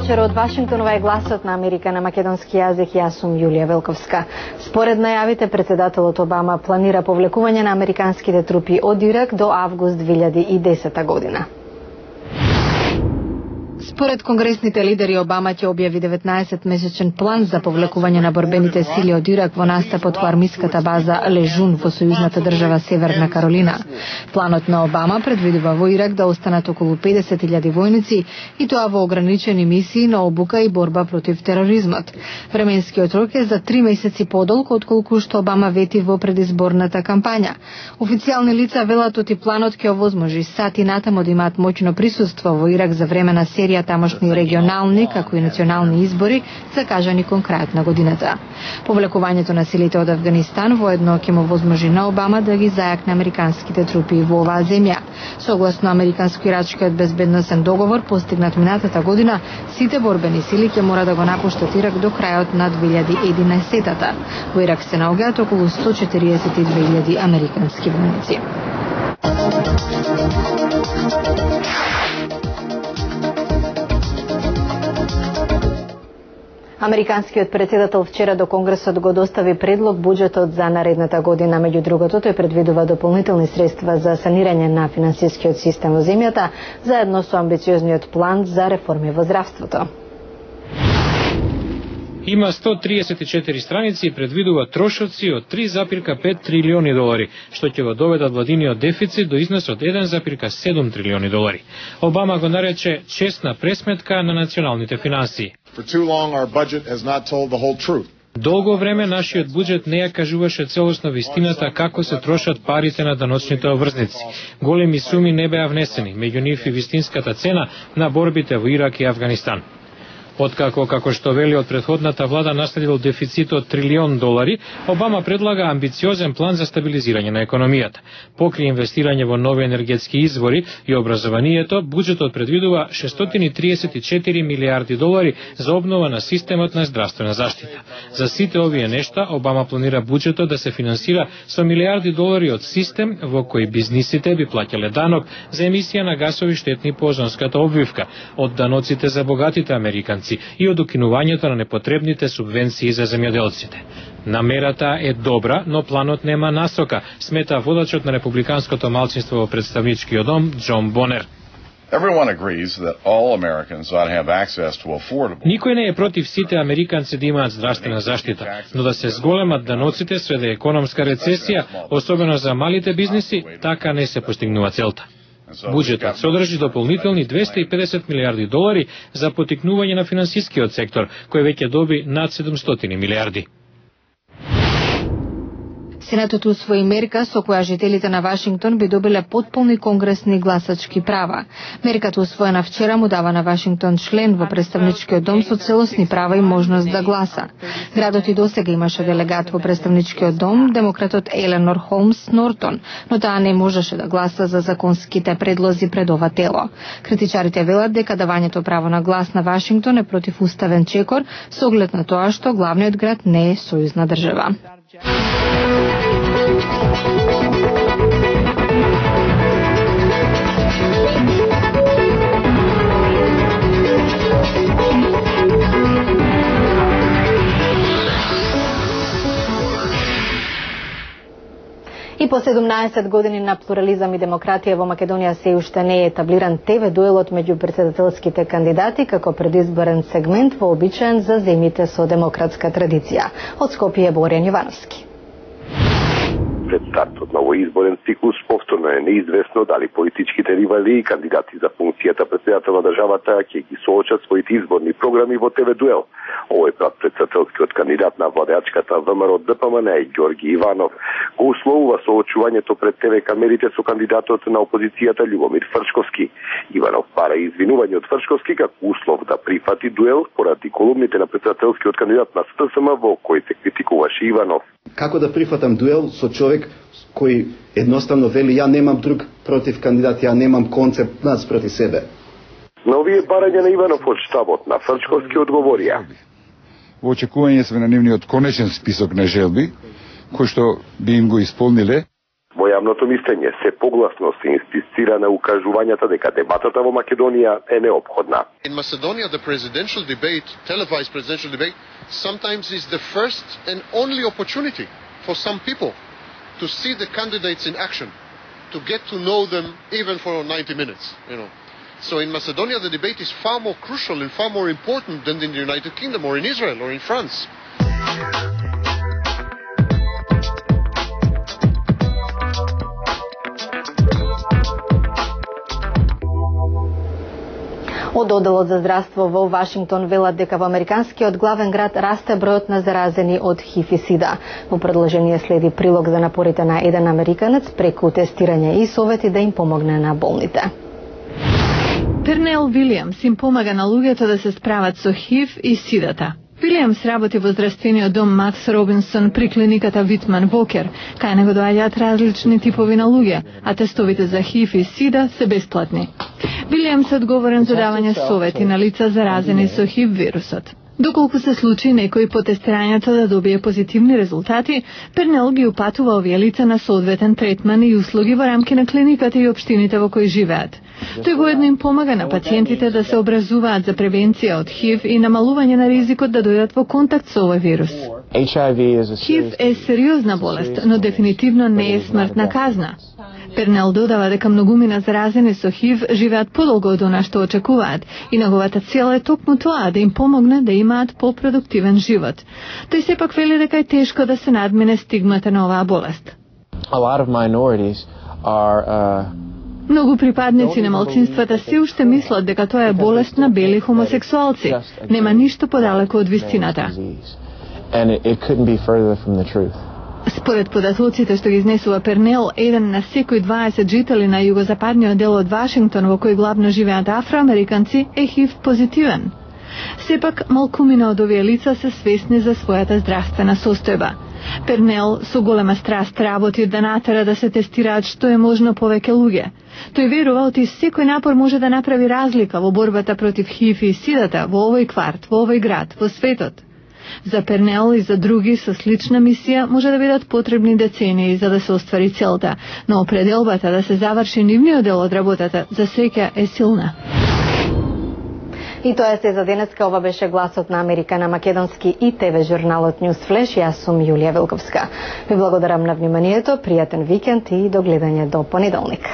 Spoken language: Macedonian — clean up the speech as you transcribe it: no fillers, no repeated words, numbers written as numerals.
Вечер од Вашингтон, ова е гласот на Америка на македонски јазик. Јас сум Јулија Велковска. Според најавите, председателот Обама планира повлекување на американските трупи од Ирак до август 2010 година. Според конгресните лидери, Обама ќе објави 19-месечен план за повлекување на борбените сили од Ирак во настапот во армиската база Лежун во сојузната држава Северна Каролина. Планот на Обама предвидува во Ирак да останат околу 50.000 војници, и тоа во ограничени мисии на обука и борба против тероризмот. Временскиот рок е за 3 месеци подолг отколку што Обама вети во предизборната кампања. Официјални лица велат оти планот ќе овозможи сати натаму да имаат моќно присуство во Ирак за време на серија тамошни регионални, како и национални избори, закажани кон крајот на годината. Повлекувањето на силите од Авганистан воедно ќе му возможи на Обама да ги зајакне американските трупи во оваа земја. Согласно американско-ирачкиот безбедносен договор постигнат минатата година, сите борбени сили ќе мора да го напуштат Ирак до крајот на 2011-та. Во Ирак се наоѓаат околу 142.000 американски војници. Американскиот председател вчера до Конгресот го достави предлог буџетот за наредната година. Меѓу другото, тој предвидува дополнителни средства за санирање на финансискиот систем во земјата, заедно со амбициозниот план за реформи во здравството. Има 134 страници и предвидува трошоци од 3,5 трилиони долари, што ќе го доведат владиниот дефицит до износ од 1,7 трилиони долари. Обама го нарече честна пресметка на националните финансии. Долго време нашиот буџет не ја кажуваше целосно вистината како се трошат парите на даночните обврзници. Големи суми не беа внесени, меѓу нив и вистинската цена на борбите во Ирак и Авганистан. Откако, како што вели од претходната влада, наследил дефицит од трилион долари, Обама предлага амбициозен план за стабилизирање на економијата. Покри инвестирање во нови енергетски извори и образованието, буџетот предвидува 634 милиарди долари за обнова на системот на здравствена заштита. За сите овие нешта, Обама планира буџетот да се финансира со милиарди долари од систем во кој бизнисите би плаќале данок за емисија на гасови штетни по озонската обвивка, од даноците за богатите американци и од укинувањето на непотребните субвенции за земјоделците. Намерата е добра, но планот нема насока, смета водачот на републиканското малцинство во представничкиот дом Џон Бонер. Никој не е против сите американци да имаат здравствена заштита, но да се зголемат даноците сведе економска рецесија, особено за малите бизниси, така не се постигнува целта. Буџетот содржи дополнителни 250 милиарди долари за поттикнување на финансискиот сектор, кој веќе доби над 700 милиарди. Сенатот усвои мерка со која жителите на Вашингтон би добиле потполни конгресни гласачки права. Мерката усвоена вчера му дава на Вашингтон член во представничкиот дом со целосни права и можност да гласа. Градот и досега имаше делегат во представничкиот дом, демократот Еленор Холмс Нортон, но таа не можеше да гласа за законските предлози пред ова тело. Критичарите велат дека давањето право на глас на Вашингтон е противуставен чекор со оглед на тоа што главниот град не е сојузна држава. И по 17 години на плурализам и демократија во Македонија се уште не е етаблиран ТВ дуелот меѓу председателските кандидати како предизборен сегмент вообичаен за земјите со демократска традиција. Од Скопје Боријан Јовановски. Пред стартот на овој изборен циклус повторно е неизвестно дали политичките ривали и кандидати за функцијата председател на државата ќе ги соочат своите изборни програми во ТВ дуел. Овој пат председателскиот кандидат на владеачката ВМРО ДПМН Ѓорги Иванов го условува соочувањето пред ТВ камерите со кандидатот на опозицијата Љубомир Фрчковски. Иванов бара извинување од Фрчковски како услов да прифати дуел поради колумните на председателскиот кандидат на СДСМ во кој се критикуваше Иванов. Како да прифатам дуел со човек кој едноставно вели ја немам друг против кандидат, ја немам концепт наспроти себе. На овие барања на Иванов од штабот на Фрчковски одговорија. Во очекување сме на нивниот конечен список на желби, кој што би им го исполниле. Во јавното мислење се погласно се инсистира на укажувањата дека дебатата во Македонија е неопходна. In Macedonia, the presidential debate, televised presidential debate, sometimes is the first and only opportunity for some people to see the candidates in action, to get to know them even for 90 minutes, So in Macedonia, the debate is far more crucial and far more important than in the United Kingdom or in Israel or in France. Од Оделот за здравство во Вашингтон велат дека во американскиот главен град расте бројот на заразени од ХИВ и СИДА. Во продолжение следи прилог за напорите на еден американец преку тестирање и совети да им помогне на болните. Пернел Вилијамс им помага на луѓето да се справат со ХИВ и СИДАТа. Вилијамс работи во здравствениот дом Макс Робинсон при клиниката Витман Вокер, кај него доаѓаат различни типови на луѓе, а тестовите за ХИВ и СИДА се бесплатни. Вилијамс е одговорен за давање совети на лица заразени со ХИВ вирусот. Доколку се случи некој по тестирањето да добие позитивни резултати, Пернел ги упатува овие лица на соодветен третман и услуги во рамки на клиниката и општините во кои живеат. Тој воедно им помага на пациентите да се образуваат за превенција од ХИВ и намалување на ризикот да дојдат во контакт со овој вирус. ХИВ е сериозна болест, но дефинитивно не е смртна казна. Пернел додава дека многумина заразени со ХИВ живеат подолго од она што очекуваат и неговата цел е токму тоа да им помогне да имаат попродуктивен живот. Тој сепак вели дека е тешко да се надмине стигмата на оваа болест. Многу припадници на малцинствата се уште мислат дека тоа е болест на бели хомосексуалци. Нема ништо подалеку од вистината. Според податоците што ги изнесува Пернел, 1 на секој 20 жители на југозападниот дел од Вашингтон, во кој главно живеат афроамериканци, е ХИВ позитивен. Сепак, малкумина од овие лица се свесни за својата здравствена состојба. Пернел со голема страст работи да натера да се тестираат што е можно повеќе луѓе. Тој верува оти секој напор може да направи разлика во борбата против ХИВ и СИДАТа во овој кварт, во овој град, во светот. За Пернел и за други со слична мисија може да бидат потребни децении за да се оствари целта, но определбата да се заврши нивниот дел од работата за среќа е силна. И тоа е се за денеска. Ова беше гласот на Америка на македонски и ТВ журналот News Flash. Јас сум Јулија Велковска. Ви благодарам на вниманието, пријатен викенд и до гледање до понеделник.